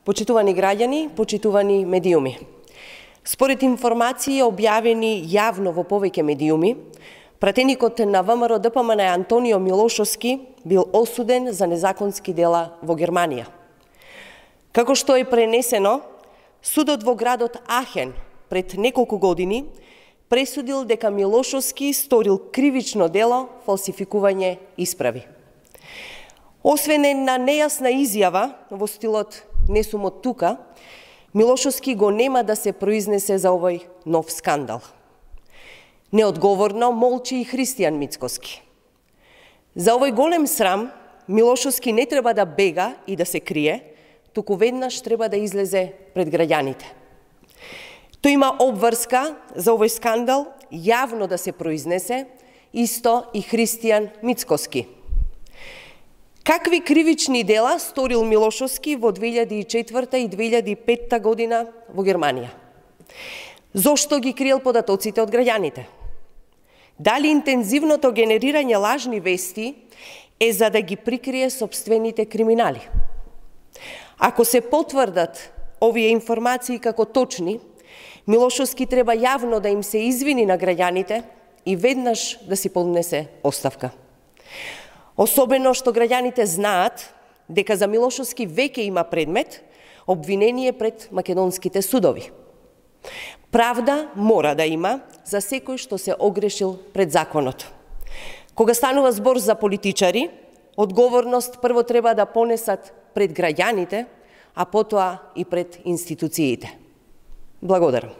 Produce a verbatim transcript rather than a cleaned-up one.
Почитувани граѓани, почитувани медиуми. Според информации објавени јавно во повеќе медиуми, пратеникот на ВМРО Д П М Н Антонио Милошовски бил осуден за незаконски дела во Германија. Како што е пренесено, судот во градот Ахен пред неколку години пресудил дека Милошовски сторил кривично дело фалсификување исправи. Освен една нејасна изјава во стилот "не сум од тука", Милошовски го нема да се произнесе за овој нов скандал. Неодговорно молчи и Христијан Мицкоски. За овој голем срам Милошовски не треба да бега и да се крие, туку веднаш треба да излезе пред граѓаните. Тој има обврска за овој скандал јавно да се произнесе, исто и Христијан Мицкоски. Какви кривични дела сторил Милошовски во две илјади и четврта и две илјади и петта година во Германија? Зошто ги криел податоците од граѓаните? Дали интензивното генерирање лажни вести е за да ги прикрие сопствените криминали? Ако се потврдат овие информации како точни, Милошовски треба јавно да им се извини на граѓаните и веднаш да си поднесе оставка. Особено што граѓаните знаат дека за Милошовски веќе има предмет обвинение пред македонските судови. Правда мора да има за секој што се огрешил пред законот. Кога станува збор за политичари, одговорност прво треба да понесат пред граѓаните, а потоа и пред институциите. Благодарам.